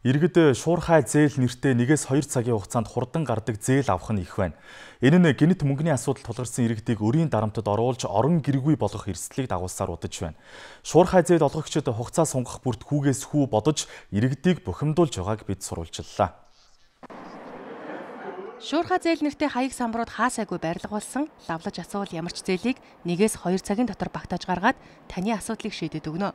Иргэд шуурхай зээл нэртэй 1-2 цагийн хугацаанд хурдан гардаг зээл авах нь их байна. Энэ нь гэнэт мөнгөний асуудал тулгарсан иргэдийг өрийн дарамтад оруулж орон гэргүй болгох эрсдлийг дагуулсаар удаж байна. Шуурхай зээл олгогчид хугацаа сунгах бүрт хүүгээс хүү бодож иргэдийг бухимдуулж байгааг бид сурвалжлаа. Шуурхай зээл нэртэй хаяг самбарууд хаасайгүй барилга болсон лавлаж асуувал ямар ч зээлийг 1-2 цагийн дотор багтааж гаргаад таны асуудлыг шийдэд өгнө.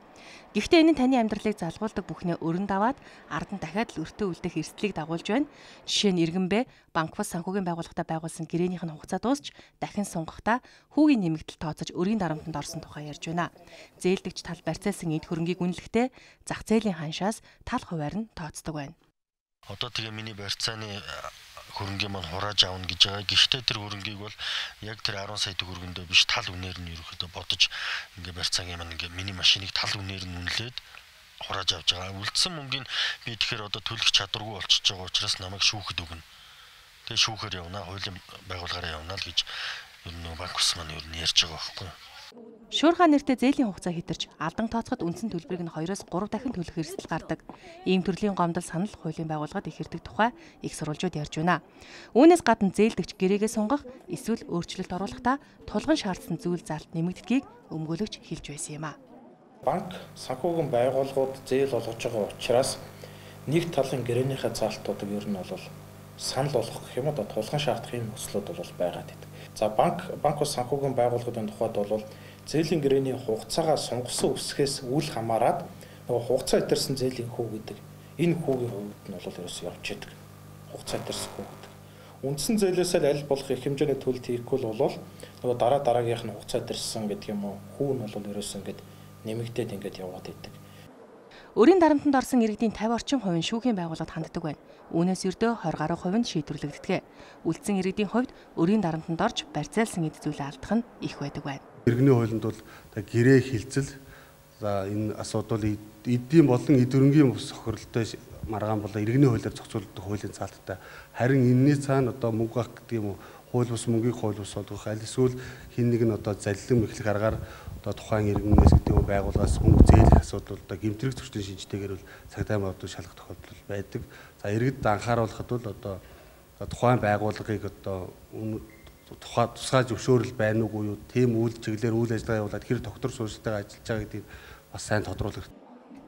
Гэхдээ энэ нь таны амьдралыг залгуулдаг бүхнээ өрн даваад ард нь дахиад л өртөө үлдэх эрсдлийг дагуулж байна. Жишээ нь Иргэнбэ банк бус санхүүгийн байгууллагатай байгуулсан гэрээнийх нь хугацаа дуусч дахин сунгахдаа хүүгийн нэмэгдэл тооцож өрийн дарамтанд орсон тухай ярьж байна. Зээлдэгч тал барьцаалсан эд хөрөнгийг үнэлэхдээ зах зээлийн ханшаас тал хуваар нь тооцдог байна. Одоо тэгээ миний барьцааны хөрөнгөө маань хурааж аавна гэж байгаа. Гэхдээ тэр хөрөнгийг бол яг тэр 10 сая төгрөгөндөө биш тал үнээр нь ерөөхдөө бодож ингээ барьцаагийн маань ингээ миний машиныг тал үнээр нь үнэлээд хурааж авч байгаа. Үлдсэн мөнгөний би тэгэхээр одоо төлөх чадваргүй болчихж байгаа учраас намайг шүүхэд өгнө. Тэгээ шүүхээр явна, хуулийн байгууллагаараа явна л гэж ер нь банк ус маань ер нь ярьж байгаа байхгүй. Шуурхай нэртэй зээлийн хугацаа хэтэрч алдан тооцоход үндсэн төлбөрийг нь 2-оос 3 дахин төлөх эрсдэл гардаг. Ийм төрлийн гомдол санал хуулийн байгууллагад их ирдэг тухай их сурвалжууд ярьж байна. Үүнээс гадна зээлдэгч гэрээгээ сунгах эсвэл өөрчлөлт оруулахдаа тулгын шаардсан зүйл залт нэмэгддгийг өмгөөлөгч хэлж байсан юм а. Банк санхүүгийн байгууллагууд зээл олгож байгаа учраас нэг талын гэрээнийхээ залтуудыг ер нь бол санал болгох гэх юм уу тулгын шаардах юм өслүүд бол байгаад байдаг. За банк ус санхүүгийн байгууллагын тухайд бол зээлийн гэрээний хугацаагаа сунгасан үсгээс үл хамааран нөгөө хугацаа итэрсэн зээлийн хүү гэдэг энэ хүүгийн хувьд нь бол ерөөсөй явж идэг. Хугацаа итэрсэн хүү гэдэг. Үндсэн зээлээс л аль болох их хэмжээний төлөлт хийхгүй бол нөгөө дараагийнх нь хугацаа итэрсэн гэдэг юм уу хүү нь бол ерөөсөй ингээд нэмэгдээд ингээд яваад идэг. Өрийн дарамтанд орсон иргэдийн 50 орчим хувь нь шүүхийн байгууллагад ханддаг байна. Үүнээс ердөө 20 гаруй хувь нь шийдвэрлэгддэг. Үлдсэн иргэдийн хувьд өрийн дарамтанд орж барьцаалсан эд зүйлээ алдах нь их байдаг байна. Иргэний хуулинд бол гэрээ хилцэл за энэ асуудал эдийн болон эд хөрөнгийн сохирлтой маргаан болоо иргэний хуулиар зохицуулдаг хуулийн цаалттай. Харин энэний цаана одоо мөнгө авах гэдэг юм уу хууль бус мөнгийг хууль бус болгох аль эсвэл хин нэг нь одоо заллин мэхлэх аргаар одоо тухайн иргэнээс гэдэг юм байгууллагаас мөнгө зээлэх асуудал одоо гэмтрэг зөрчлийн шинжтэйгээр бол цагдаа модод шалгах тохиолдол байдаг. За иргэд анхааруулахад бол одоо тухайн байгууллагыг одоо тусгай зөвшөөрөл байна уугүй юу тийм үйл чиглэлээр үйл ажиллагаа явуулаад хэр доктор суурьтайгаа ажиллаж байгаа гэдгийг бас сайн тодруулах.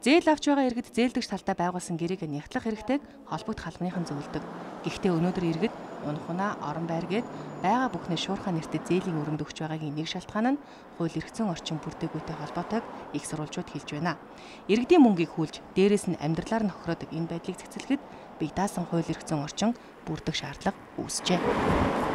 Зээл авч байгаа иргэд зээлдэгч талдаа байгуулсан гэрээг нягтлах хэрэгтэйг холбогд халбаныхан зөвлөдөг. Гэхдээ өнөөдөр иргэд унах унаа орон байр гээд байгаа бүхнээ шуурхай нэртэй зээлийн өрөнд өгч байгаагийн нэг шалтгаан нь хууль эрх зүйн орчин бүрдээгүйтэй холбоотойг их сурвалжууд хэлж байна. Иргэдийн мөнгийг хүлж дээрээс нь амьдралаар нь хохироодог энэ байдлыг цэцэлэхэд бие даасан хууль эрх зүйн орчин бүрдэх шаардлага үүсжээ.